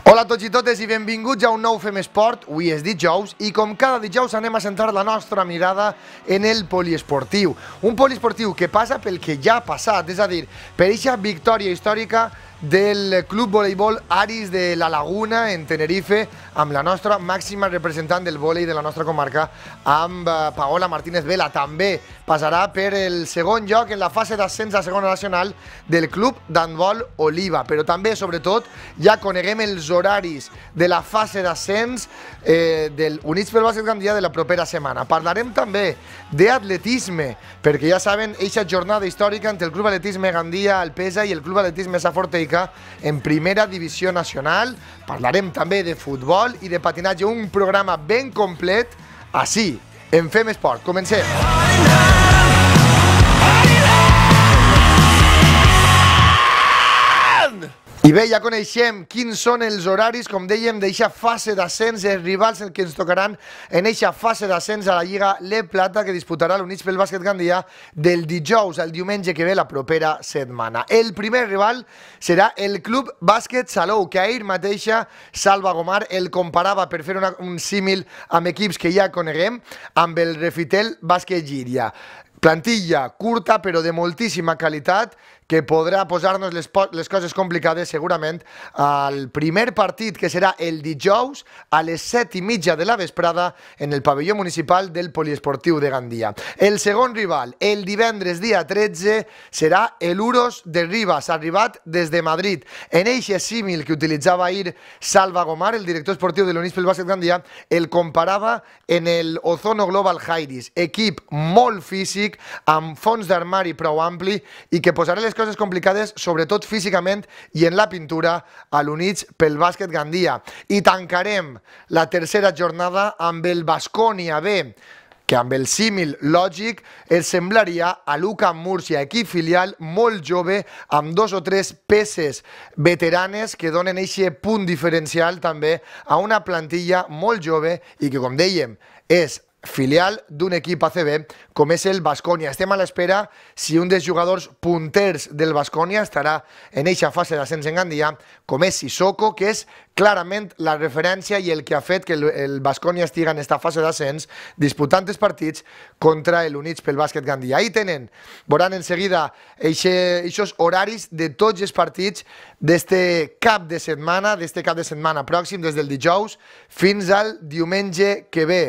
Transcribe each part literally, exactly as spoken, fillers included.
Hola a tots i totes i benvinguts a un nou Fem Esport. Avui és dijous i com cada dijous anem a centrar la nostra mirada en el poliesportiu. Un poliesportiu que passa pel que ja ha passat, és a dir, per aquesta victòria històrica del Club Voleibol Aris de la Laguna en Tenerife, amb la nostra màxima representant del vòlei de la nostra comarca, amb Paola Martínez Vela. També passarà per el segon lloc en la fase d'ascens a segona nacional del Club d'Handbol Oliva, però també, sobretot, ja coneguem els horaris de la fase d'ascens eh, del Units pel Bàsquet Gandia de la propera setmana. Parlarem també d'atletisme, perquè ja saben, eixa jornada històrica entre el Club Atletisme Gandia Alpesa i el Club Atletisme Saforteica en primera divisió nacional. Parlarem també de futbol i de patinatge, un programa ben complet així, en Fem Esport. Comencem! I bé, ja coneixem quins són els horaris, com dèiem, d'eixa fase d'ascens, els rivals que ens tocaran en eixa fase d'ascens a la Lliga Le Plata que disputarà l'Units pel Bàsquet Gandia del dijous al diumenge que ve la propera setmana. El primer rival serà el Club Bàsquet Salou, que ahir mateixa Salva Gomar el comparava, per fer una, un símil amb equips que ja coneguem, amb el Refitel Bàsquet Llíria. Plantilla curta però de moltíssima qualitat que podrà posar-nos les, les coses complicades segurament al primer partit, que serà el dijous a les set i mitja de la vesprada en el pavelló municipal del Poliesportiu de Gandia. El segon rival, el divendres dia tretze, serà el Uros de Rivas, arribat des de Madrid. En eixe símil que utilitzava ahir Salva Gomar, el director esportiu de l'Units pel Bàsquet Gandia, el comparava en el Ozono Global Jairis, equip molt físic, amb fons d'armari prou ampli i que posarà les coses complicades, sobretot físicament i en la pintura, a l'Units pel Bàsquet Gandia. I tancarem la tercera jornada amb el Baskonia B, que amb el símil lògic es semblaria a l'UCAM Múrcia, equip filial molt jove, amb dos o tres peces veteranes que donen aquest punt diferencial també a una plantilla molt jove i que, com dèiem, és filial d'un equip A C B com és el Baskonia. Estem a l'espera si un dels jugadors punters del Baskonia estarà en eixa fase d'ascens en Gandia, com és Sissoko, que és clarament la referència i el que ha fet que el Baskonia estiga en esta fase d'ascens disputant els partits contra l'Units pel Bàsquet Gandia. Ahí tenen, veuran en seguida aquests horaris de tots els partits d'este cap de setmana, d'este cap de setmana pròxim, des del dijous fins al diumenge que ve.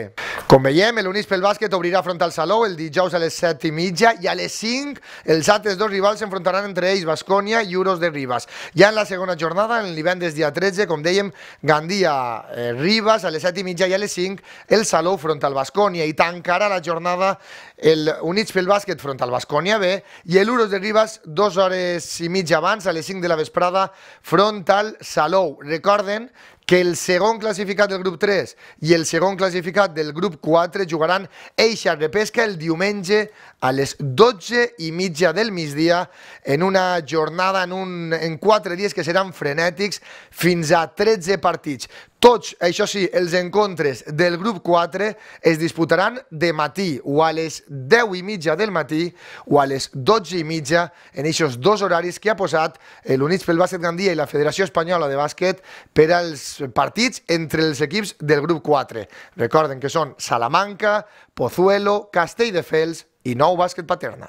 Com veiem, l'Units pel Bàsquet obrirà front al Salou el dijous a les set i mitja i a les cinc els altres dos rivals s'enfrontaran entre ells, Baskonia i Uros de Rivas. Ja en la segona jornada, en el divendres dia tretze, com dèiem, Gandia eh, Rivas a les set i mitja i a les cinc el Salou front al Baskonia, i tancarà la jornada el Units pel Bàsquet front al Baskonia B i l'Uros de Rivas dues hores i mitja abans, a les cinc de la vesprada, front al Salou. Recorden que el segon classificat del grup tres i el segon classificat del grup quatre jugaran eixa repesca el diumenge a les dotze i mitja del migdia en una jornada, en, un, en quatre dies que seran frenètics, fins a tretze partits. Tots, això sí, els encontres del grup quatre es disputaran de matí, o a les deu i mitja del matí o a les dotze i mitja, en aquests dos horaris que ha posat l'Units pel Bàsquet Gandia i la Federació Espanyola de Bàsquet per als partits entre els equips del grup quatre. Recorden que són Salamanca, Pozuelo, Castelldefels i Nou Bàsquet Paterna.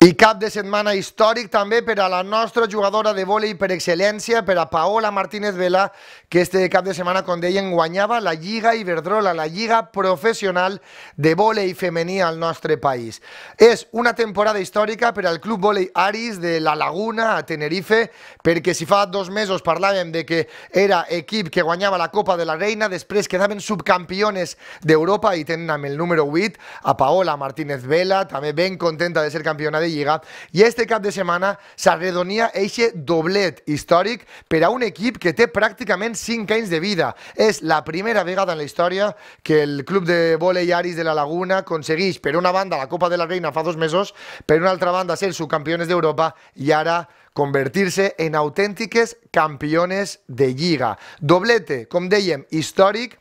I cap de setmana històric també per a la nostra jugadora de vòlei per excel·lència, per a Paola Martínez Vela, que este cap de setmana, com deien, guanyava la Lliga Iberdrola, la lliga professional de vòlei femení al nostre país. És una temporada històrica per al Club Vòlei Aris de la Laguna a Tenerife, perquè si fa dos mesos parlàvem de que era equip que guanyava la Copa de la Reina, després quedaven subcampiones d'Europa i tenen amb el número vuit a Paola Martínez Vela, també ben contenta de ser campiona de Lliga, i este cap de setmana s'arredonia eixe doblet històric per a un equip que té pràcticament cinc anys de vida. És la primera vegada en la història que el Club de Vòlei Aris de la Laguna aconsegueix, per una banda, la Copa de la Reina fa dos mesos, per una altra banda, ser subcampiones d'Europa i ara convertir-se en autèntiques campiones de Lliga. Doblete, com dèiem, històric,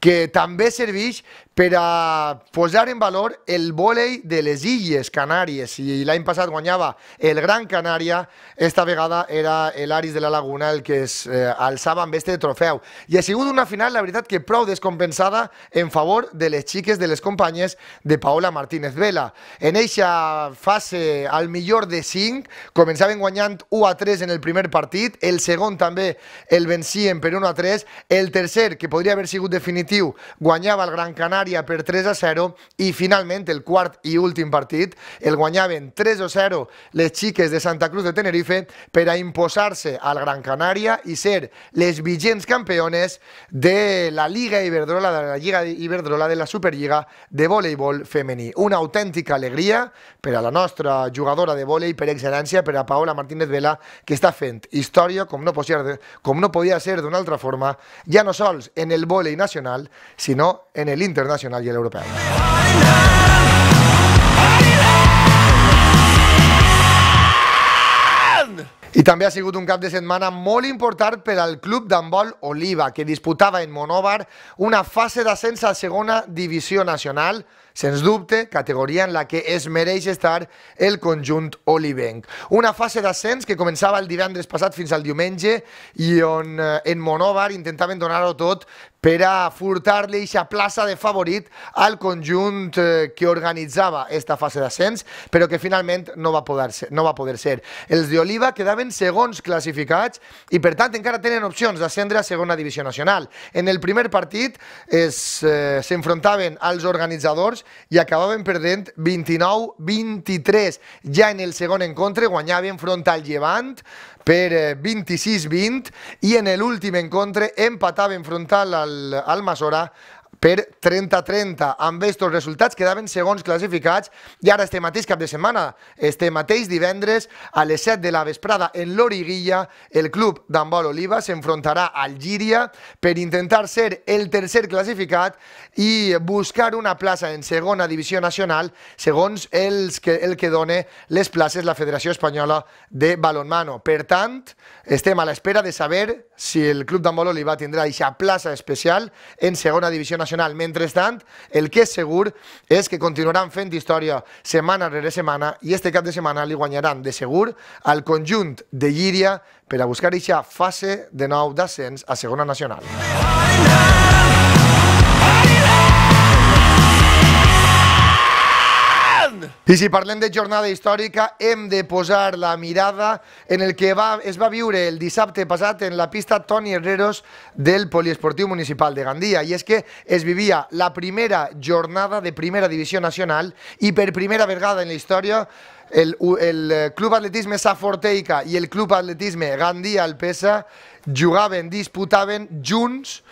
que també serveix per a posar en valor el vòlei de les Illes Canàries. Si l'any passat guanyava el Gran Canària, esta vegada era l'Aris de la Laguna el que es eh, alçava amb este trofeu. I ha sigut una final, la veritat, que prou descompensada en favor de les xiques de les companyes de Paola Martínez Vela. En eixa fase, al millor de cinc, començaven guanyant u a tres en el primer partit, el segon també el vencien per un a tres, el tercer, que podria haver sigut definitiu, guanyava el Gran Canària per tres a zero i finalment el quart i últim partit el guanyaven tres a zero les xiques de Santa Cruz de Tenerife per a imposar-se al Gran Canària i ser les vigents campiones de la Lliga Iberdrola, de la Lliga Iberdrola de la Superliga de voleibol femení. Una autèntica alegria per a la nostra jugadora de vòlei per excel·lència, per a Paola Martínez Vela, que està fent història com no podia, com no podia ser d'una altra forma, ja no sols en el vòlei nacional, sinó en el internacional i l'europeu. I també ha sigut un cap de setmana molt important per al club d'handbol Oliva, que disputava en Monòvar una fase d'ascens a segona divisió nacional, sens dubte, categoria en la que es mereix estar el conjunt olivenc. Una fase d'ascens que començava el divendres passat fins al diumenge i on en Monòvar intentaven donar-ho tot per a furtar-li aquesta plaça de favorit al conjunt que organitzava aquesta fase d'ascens, però que finalment no va poder ser. No va poder ser. Els d'Oliva quedaven segons classificats i per tant encara tenen opcions d'ascendre a segona divisió nacional. En el primer partit s'enfrontaven eh, als organitzadors i acabaven perdent vint-i-nou a vint-i-tres. Ja en el segon encontre guanyaven front al Llevant per vint-i-sis a vint i en l'últim encontre empataven frontal al, al Masora per trenta a trenta. Amb estos resultats quedaven segons classificats i ara este mateix cap de setmana, este mateix divendres a les set de la vesprada en l'Origuilla, el club d'handbol Oliva s'enfrontarà al Llíria per intentar ser el tercer classificat i buscar una plaça en segona divisió nacional segons els que, el que dona les places la Federació Espanyola de Balonmano. Per tant, estem a l'espera de saber si el club d'handbol Oliva tindrà aquesta plaça especial en segona divisió nacional. Mentrestant, el que és segur és que continuaran fent història setmana rere setmana i este cap de setmana li guanyaran de segur al conjunt de Llíria per a buscar aquesta fase de nou d'ascens a segona nacional. I si parlem de jornada històrica, hem de posar la mirada en el que va, es va viure el dissabte passat en la pista Toni Herreros del Poliesportiu Municipal de Gandia. I és que es vivia la primera jornada de primera divisió nacional i per primera vegada en la història el, el Club Atletisme Saforteica i el Club Atletisme Gandia Alpesa jugaven, disputaven junts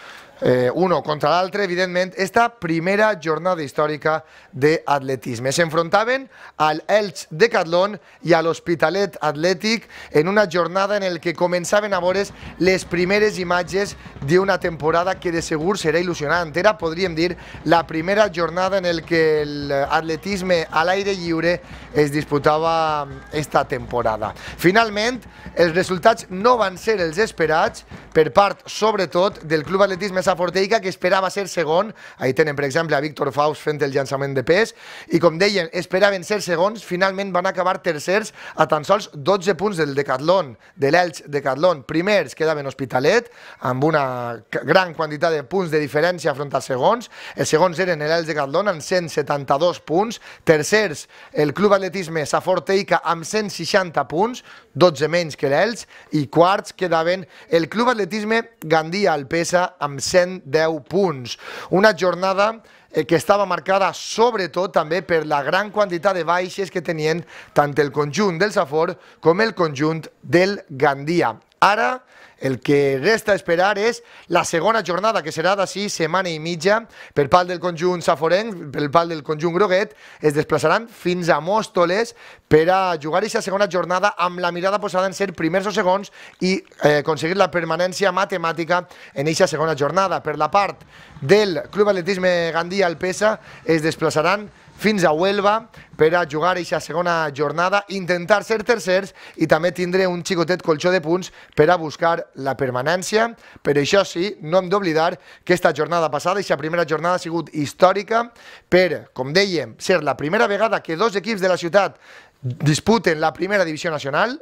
Eh, uno contra l'altre, evidentment, esta primera jornada històrica d'atletisme. S'enfrontaven al Elx Decathlon i a l'Hospitalet Atlètic en una jornada en el que començaven a veure les primeres imatges d'una temporada que de segur serà il·lusionant. Era, podríem dir, la primera jornada en el que l'atletisme a l'aire lliure es disputava esta temporada. Finalment, els resultats no van ser els esperats per part, sobretot, del Club Atletisme Saforteica, que esperava ser segon. Ahí tenen, per exemple, a Víctor Faust fent el llançament de pes. I, com deien, esperaven ser segons. Finalment van acabar tercers a tan sols dotze punts del Decathlon, de l'Elx Decathlon. Primers quedaven Hospitalet, amb una gran quantitat de punts de diferència front als segons. Els segons eren l'Elx Decathlon amb cent setanta-dos punts. Tercers, el Club Atletisme Saforteica amb cent seixanta punts, dotze menys que l'Elx. I quarts quedaven el Club Atletisme Gandia Alpesa amb cent deu punts. Una jornada que estava marcada sobretot també per la gran quantitat de baixes que tenien tant el conjunt del Safor com el conjunt del Gandia. Ara el que resta esperar és la segona jornada, que serà d'ací setmana i mitja. Per part del conjunt saforenc, per part del conjunt groguet, es desplaçaran fins a Mòstoles per a jugar aquesta segona jornada amb la mirada posada en ser primers o segons i eh, aconseguir la permanència matemàtica en aquesta segona jornada. Per la part del Club Atletisme Gandia Alpesa es desplaçaran fins a Huelva per a jugar aquesta segona jornada, intentar ser tercers i també tindre un xicotet colxó de punts per a buscar la permanència. Per això sí, no hem d'oblidar que aquesta jornada passada, aquesta primera jornada ha sigut històrica per, com dèiem, ser la primera vegada que dos equips de la ciutat disputen la primera divisió nacional.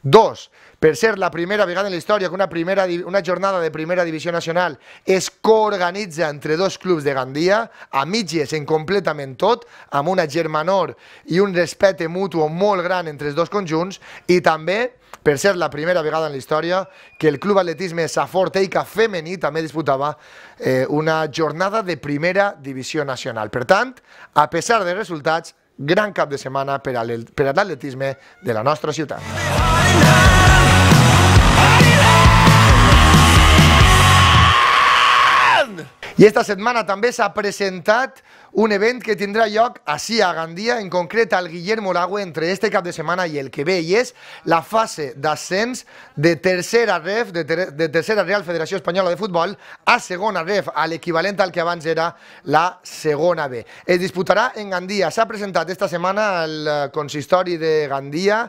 Dos, per ser la primera vegada en la història que una, primera, una jornada de primera divisió nacional es coorganitza entre dos clubs de Gandia, a mitges en completament tot, amb una germanor i un respecte mutu molt gran entre els dos conjunts, i també per ser la primera vegada en la història que el Club Atletisme Safor Teica femení també disputava eh, una jornada de primera divisió nacional. Per tant, a pesar dels resultats, gran cap de setmana per a l'atletisme de la nostra ciutat. I esta setmana també s'ha presentat un event que tindrà lloc ací a Gandia, en concret al Guillermo Lague, entre este cap de setmana i el que ve, i és la fase d'ascens de tercera ref, de, ter de tercera Real Federació Espanyola de Futbol, a segona ref, a l'equivalent al que abans era la segona B. Es disputarà en Gandia. S'ha presentat esta setmana al consistori de Gandia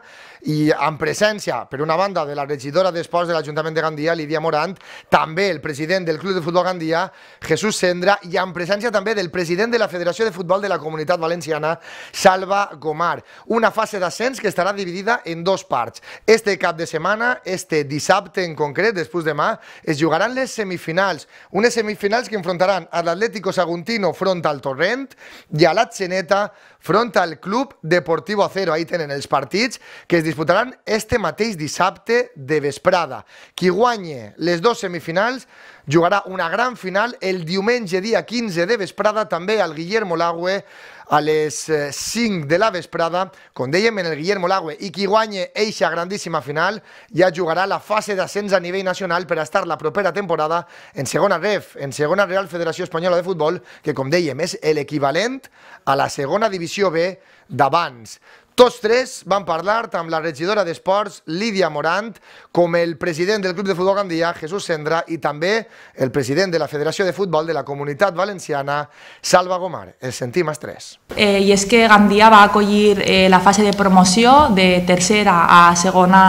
i en presència, per una banda, de la regidora d'Esports de l'Ajuntament de Gandia, Lídia Morant, també el president del Club de Futbol Gandia, Jesús Sendra, i en presència també del president de la Federació de Futbol de la Comunitat Valenciana, Salva Gomar. Una fase d'ascens que estarà dividida en dos parts. Este cap de setmana, este dissabte en concret, després demà, es jugaran les semifinals. Unes semifinals que enfrontaran a l'Atlético Saguntino front al Torrent i a l'Atzeneta front al Club Deportivo Acero. Ahí tenen els partits que es disputaran este mateix dissabte de vesprada. Qui guanye les dues semifinals jugarà una gran final el diumenge dia quinze de vesprada, també al Guillermo Lague, a les cinc de la vesprada, com dèiem, en el Guillermo Lague, i qui guanye eixa grandíssima final ja jugarà la fase d'ascens a nivell nacional per a estar la propera temporada en segona ref, en segona Real Federació Espanyola de Futbol, que, com dèiem, és l'equivalent a la segona divisió B d'abans. Tots tres van parlar amb la regidora d'Esports, Lídia Morant, com el president del Club de Futbol Gandia, Jesús Sendra, i també el president de la Federació de Futbol de la Comunitat Valenciana, Salva Gomar. Els sentim els tres. Eh, I és que Gandia va acollir eh, la fase de promoció de tercera a segona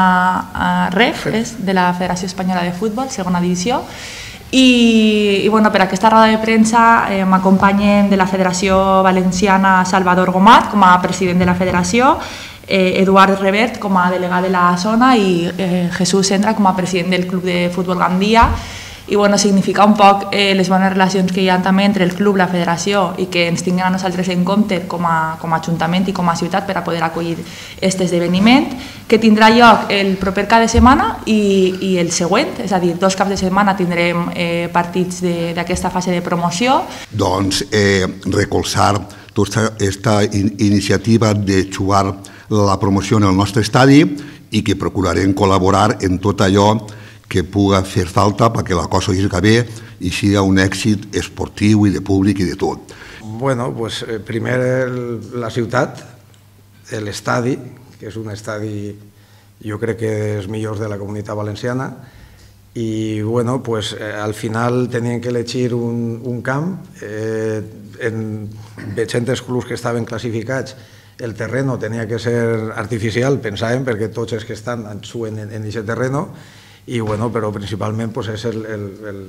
eh, ref, és, de la Federació Espanyola de Futbol, segona divisió. I, i bueno, per aquesta roda de premsa eh, m'acompanyen de la Federació Valenciana Salvador Gomar com a president de la federació, eh, Eduard Revert com a delegat de la zona i eh, Jesús Sendra com a president del Club de Futbol Gandia. I bueno, significa un poc eh, les bones relacions que hi ha també entre el club, la federació, i que ens tinguin a nosaltres en compte com a, com a ajuntament i com a ciutat per a poder acollir aquest esdeveniment, que tindrà lloc el proper cap de setmana i, i el següent, és a dir, dos caps de setmana tindrem eh, partits d'aquesta fase de promoció. Doncs eh, recolzar tota aquesta in iniciativa de jugar la promoció en el nostre estadi i que procurarem col·laborar en tot allò que pugui fer falta perquè la cosa isca bé i sigui un èxit esportiu i de públic i de tot. Bueno, pues primer la ciutat, l'estadi, que és un estadi jo crec que dels millors de la Comunitat Valenciana, i bueno, pues al final tenien que elegir un, un camp, eh, en veient els clubs que estaven classificats, el terreno tenia que ser artificial, pensàvem, perquè tots els que estan suen en aquest terreno, i bueno, però principalment pues, és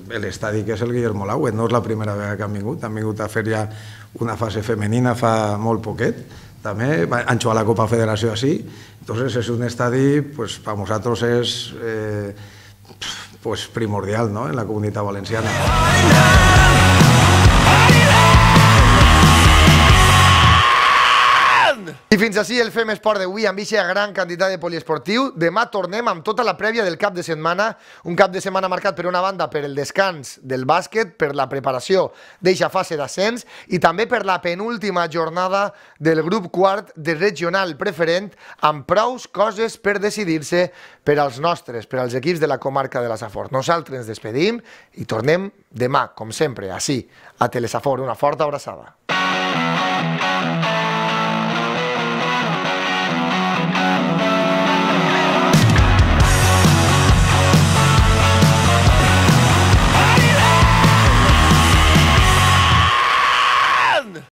l'estadi que és el Guillermo Lague. No és la primera vegada que han vingut, han vingut a fer ja una fase femenina fa molt poquet, també han jugat la Copa Federació així, entonces és un estadi, pues, per nosaltres és eh, pues, primordial, ¿no?, en la Comunitat Valenciana. I fins així el Fem Esport d'avui amb aquesta gran quantitat de poliesportiu. Demà tornem amb tota la prèvia del cap de setmana, un cap de setmana marcat per una banda per el descans del bàsquet, per la preparació d'eixa fase d'ascens i també per la penúltima jornada del grup quart de regional preferent amb prous coses per decidir-se per als nostres, per als equips de la comarca de la Safor. Nosaltres ens despedim i tornem demà, com sempre, així, a Telesafor. Una forta abraçada.